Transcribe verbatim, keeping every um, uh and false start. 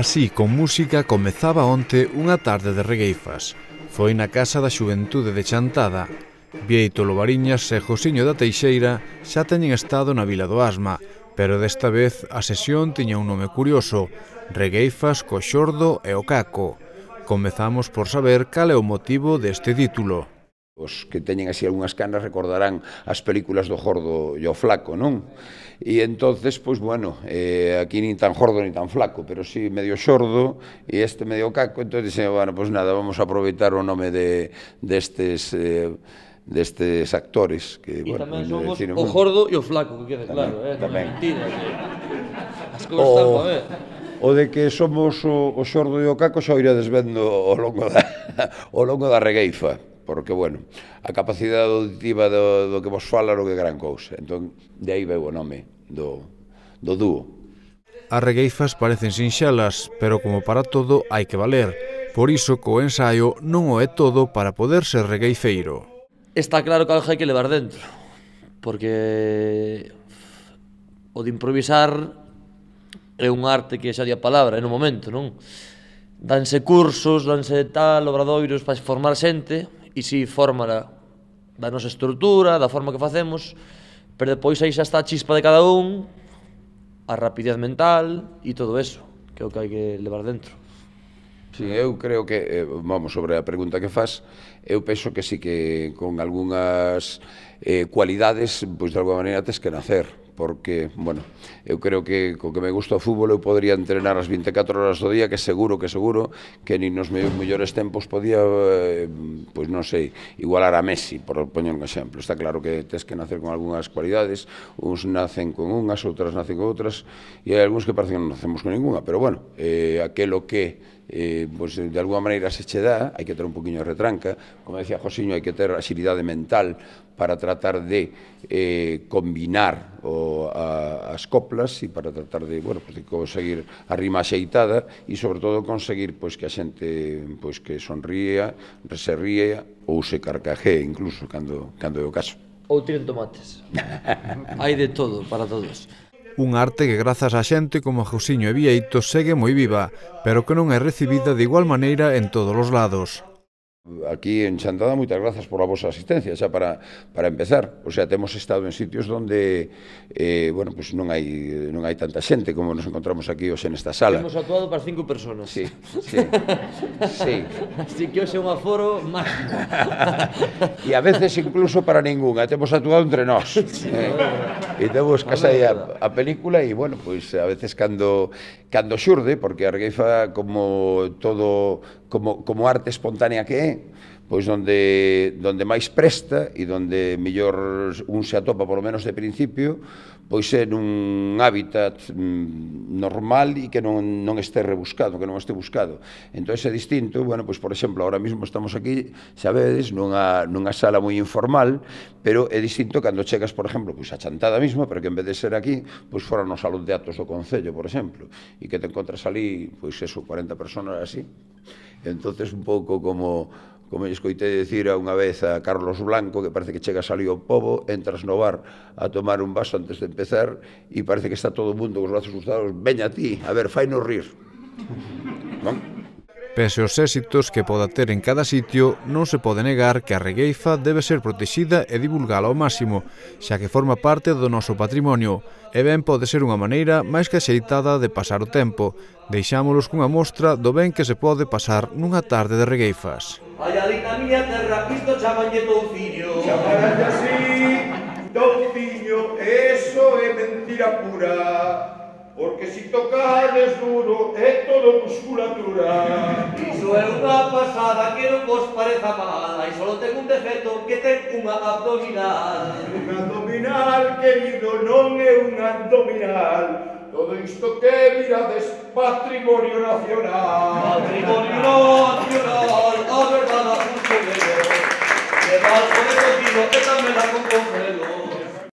Así, con música, comezaba onte unha tarde de regueifas. Foi na Casa da Xuventude de Chantada. Bieito Lobariñas e Josiño da Teixeira xa teñen estado na Vila do Asma, pero desta vez a sesión tiña un nome curioso: Regueifas co Xordo e o Caco. Comezamos por saber cal é o motivo deste título. Os que teñen así algunhas canas recordarán as películas do Gordo e o Flaco, non? E entonces, pois, bueno, eh, aquí nin tan gordo nin tan flaco, pero sí medio xordo e este medio caco, entón dixen, bueno, pois nada, vamos a aproveitar o nome de destes eh, destes actores que, e bueno, tamén somos decir, o gordo e o flaco, que quede claro, eh? Tamén. Mentira, que as cousas están para ver. O de que somos o, o xordo e o caco xa o irades vendo ao longo da, ao longo da regueifa, porque, bueno, a capacidade auditiva do, do que vos fala non é gran cousa, entón, de aí veu o nome do, do dúo. As regueifas parecen sinxelas, pero como para todo hai que valer. Por iso, co ensaio non o é todo para poder ser regueifeiro. Está claro que algo hai que levar dentro, porque o de improvisar é un arte que xa di a palabra, é no momento, non? Danse cursos, danse tal, obradoiros para formar xente, e si fórmala da nosa estrutura, da forma que facemos, pero depois aí xa está a chispa de cada un, a rapidez mental e todo eso, que é o que hai que levar dentro. Sí, eu creo que, vamos, sobre a pregunta que faz, eu penso que sí que con algunhas eh, cualidades, pois de alguma maneira tes que nacer, porque, bueno, eu creo que co que me gusta o fútbol eu podría entrenar as vinte e catro horas do día, que seguro, que seguro, que nin nos mellores tempos podía, eh, pois non sei, igualar a Messi, por poñer un exemplo. Está claro que tes que nacer con algunhas cualidades, uns nacen con unhas, outras nacen con outras, e hai algúns que parecen que non nacemos con ninguna, pero bueno, eh, aquelo que Eh, pues, de alguma maneira se che dá, hai que ter un poquinho de retranca, como decía Josiño, hai que ter axilidade mental para tratar de eh, combinar o, a, as coplas e para tratar de, bueno, pues, de conseguir a rima axeitada e sobre todo conseguir pues, que a xente pues, que sonría, se ría ou se carcajee incluso cando, cando é o caso. Ou tiren tomates. Hai de todo para todos. Un arte que grazas a xente como Josiño e Bieito segue moi viva, pero que non é recibida de igual maneira en todos os lados. Aquí en Chantada, moitas grazas por a vosa asistencia, xa para, para empezar. O sea, temos estado en sitios onde eh, bueno, pues non hai non hai tanta xente como nos encontramos aquí hoxe nesta sala. Hemos actuado para cinco personas. Sí, sí, sí. Así que hoxe é un aforo máximo. E a veces incluso para ningunha, temos actuado entre nós. Sí, eh, e temos que sair a, a película e, bueno, pois a veces cando, cando xurde, porque a regueifa como todo, como, como arte espontánea que é, pois donde, donde máis presta e donde mellor un se atopa, polo menos de principio, pois é nun hábitat mm, normal e que non, non este rebuscado, que non este buscado. Entón é distinto, bueno, pois por exemplo, ahora mesmo estamos aquí, sabedes, nunha, nunha sala moi informal, pero é distinto cando chegas, por exemplo, pois a Chantada mesmo, pero que en vez de ser aquí, pois fora no salón de actos do Concello, por exemplo, e que te encontras ali, pois eso, cuarenta personas así. Entonces un pouco como como lle escoitei dicir unha vez a Carlos Blanco, que parece que chegas ali ao pobo, entras no bar a tomar un vaso antes de empezar e parece que está todo o mundo con os brazos cruzados, veña a ti, a ver, fainos rir. Non? Pese aos éxitos que poda ter en cada sitio, non se pode negar que a regueifa debe ser protexida e divulgala ao máximo, xa que forma parte do noso patrimonio, e ben pode ser unha maneira máis que axeitada de pasar o tempo. Deixámolos cunha mostra do ben que se pode pasar nunha tarde de regueifas. Ai, ali na miña terra, isto chamanlle touciño. Chamarlle así, touciño, eso é mentira pura, porque si tocades duro é todo musculatura. Iso é unha pasada que non vos pareza mala, e só ten un defecto que ten unha abdominal. Un abdominal, querido, non é un abdominal. Todo isto que mirades, patrimonio nacional. Patrimonio nacional, a verdade a punto de ver. Que mal pode contigo, que tamén la con congelo.